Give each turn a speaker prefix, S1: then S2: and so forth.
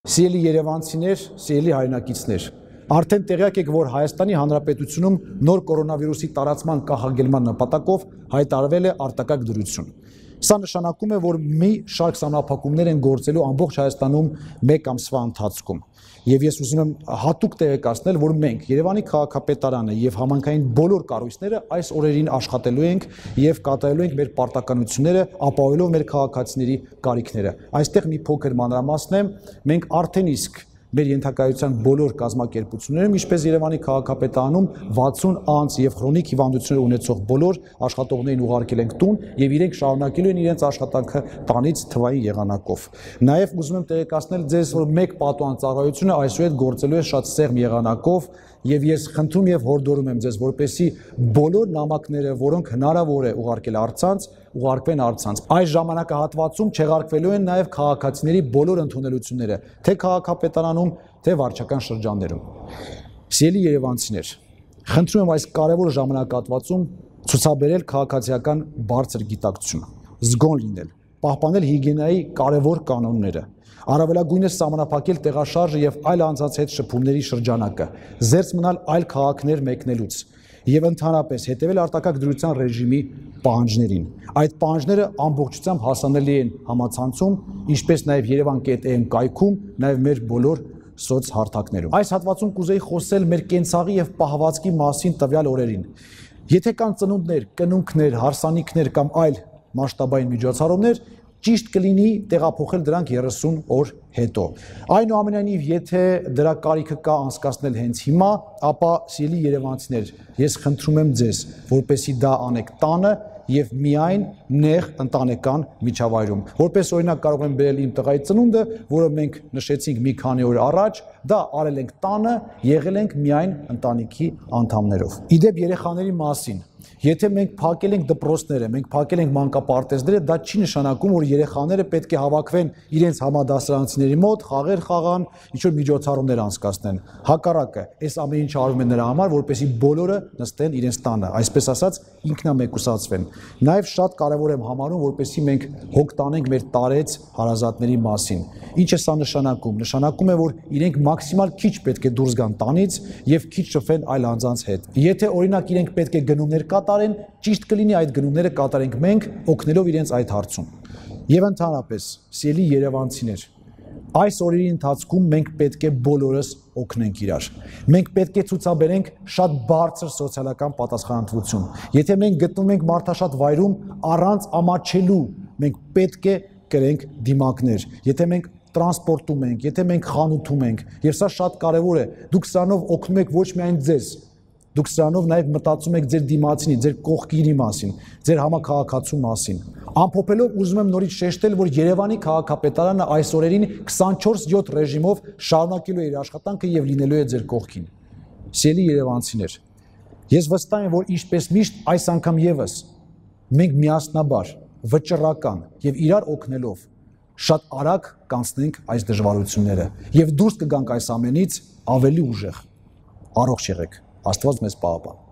S1: Սիրելի երևանցիներ, սիրելի հայրենակիցներ, արդեն տեղյակ եք, որ Հայաստանի Հանրապետությունում նոր կորոնավիրուսի տարածման կանխարգելման նպատակով հայտարարվել է արտակարգ դրություն։ Սա նշանակում է, որ մի շարք սահմանափակումներ են գործելու ամբողջ Հայաստանում մեկ ամսվա ընթացքում։ Եվ ես ուզում եմ հատուկ տեղեկացնել, որ մենք Երևանի քաղաքապետարանը եւ համայնքային բոլոր կառույցները այս օրերին աշխատելու ենք եւ կատարելու ենք մեր պարտականությունները, ապահովելով մեր քաղաքացիների կարիքները։ Այստեղ մի փոքր մանրամասն է, մենք արդեն իսկ մեր ենթակայության բոլոր կազմակերպություններում, ինչպես Երևանի քաղաքապետարանում 60 անձ եւ քրոնիկ հիվանդություններ ունեցող բոլոր աշխատողներին ուղարկել ենք տուն եւ իրենք շարունակելու են իրենց աշխատանքը տանից թվային եղանակով։ Նաեւ ուզում եմ տեղեկացնել ձեզ, որ մեկ պատուհան ծառայությունը այսուհետ գործելու է շատ սեղմ եղանակով եւ ես խնդրում եւ հորդորում եմ ձեզ, որպեսզի բոլոր նամակները, որոնք հնարավոր է ուղարկել առցանց, ուղարկվեն առցանց։ Այս ժամանակահատվածում չեղարկվելու են նաեւ քաղաքացիների բոլոր ընդունելությունները, թե քաղաքապետարանում, թե վարչական շրջաններում։ Սիրելի երևանցիներ, խնդրում եմ այս կարևոր ժամանակահատվածում ցուցաբերել քաղաքացիական բարձր գիտակցություն, զգոն լինել, պահպանել հիգիենայի կարևոր կանոնները, առավելագույնս սահմանափակել տեղաշարժը եւ այլ անձանց հետ շփումների շրջանակը, զերծ մնալ այլ քաղաքներ մեկնելուց եւ ընդհանրապես հետեւել արտակարգ դրության ռեժիմի պահանջներին։ Այդ պահանջները ամբողջությամբ հասանելի են համացանցում, ինչպես նաեւ Yerevan.am կայքում, նաեւ մեր բոլոր սոցհարթակներում։ Այս հատվածում կուզեի խոսել մեր կենցաղի եւ պահվածքի մասին տվյալ օրերին։ Եթե կան ծնունդներ, կնունքներ, հարսանիքներ կամ այլ մասշտաբային միջոցառումներ, ճիշտ կլինի տեղափոխել դրանք 30 օր հետո։ Այնուամենայնիվ, եթե դրա կարիքը կա անցկացնել հենց հիմա, ապա սիրելի երևանցիներ, ես խնդրում եմ ձեզ, որպեսզի դա անեք տանը եւ միայն նեղ ընտանեկան միջավայրում։ Որպես օրինակ կարող եմ բերել իմ տղայի ծնունդը, որը մենք նշեցինք մի քանի օր առաջ, դա արել ենք տանը, եղել ենք միայն ընտանիքի անդամներով։ Իդեպ երեխաների մասին, եթե մենք փակել ենք դպրոցները, մենք փակել ենք մանկապարտեզները, դա չի նշանակում, որ երեխաները պետք է հավաքվեն իրենց համադասարանցիների մոտ, խաղեր խաղան, ինչ-որ միջոցառումներ անցկացնեն։ Հակառակը, այս ամեն ինչ արվում է նրա համար, որպեսզի բոլորը նստեն իրենց տանը, այսպես ասած, ինքնամեկուսացվեն։ Նաև շատ կարևոր եմ համարում, որպեսզի մենք հոգ տանենք մեր տարեց հարազատների մասին։ Ինչ է սա նշանակում։ Նշանակում է, որ իրենք մաքսիմալ քիչ պետք է դուրս գան տանից եւ քիչ շփվեն այլ անձանց հետ։ Եթե օրինակ իրենք պետք է գնումներ կատարեն, ճիշտ կլինի այդ գնումները կատարենք մենք, օգնելով իրենց այդ հարցում։ Եվ ընդհանրապես, սիրելի երևանցիներ, այս օրերի ընթացքում մենք պետք է բոլորս օգնենք իրար։ Մենք պետք է ցուցաբերենք շատ բարձր սոցիալական պատասխանատվություն։ Եթե մենք գտնվում ենք մարդաշատ վայրում առանց ամաչելու, մենք պետք է կրենք դիմակներ։ Եթե մենք տրանսպորտում ենք, եթե մենք խանութում ենք, եւ սա շատ կարեւոր է, դուք սրանով օգնում եք ոչ միայն ձեզ, դուք սրանով նաեւ մտածում եք ձեր դիմացինի, ձեր կողքինի մասին, ձեր համակարգացու մասին։ Ամփոփելով ուզում եմ նորից շեշտել, որ Երևանի քաղաքապետարանը այս օրերին 24/7 ռեժիմով շարունակելու է իր աշխատանքը եւ լինելու է ձեր կողքին։ Սիրելի երևանցիներ, ես վստահ եմ, որ ինչպես միշտ այս անգամ եւս մենք միասնաբար, վճռական եւ իրար օգնելով շատ արագ կանցնենք այս դժվարությունները եւ դուրս կգանք այս ամենից ավելի ուժեղ։ Առողջ եղեք, Աստված մեզ պահապան։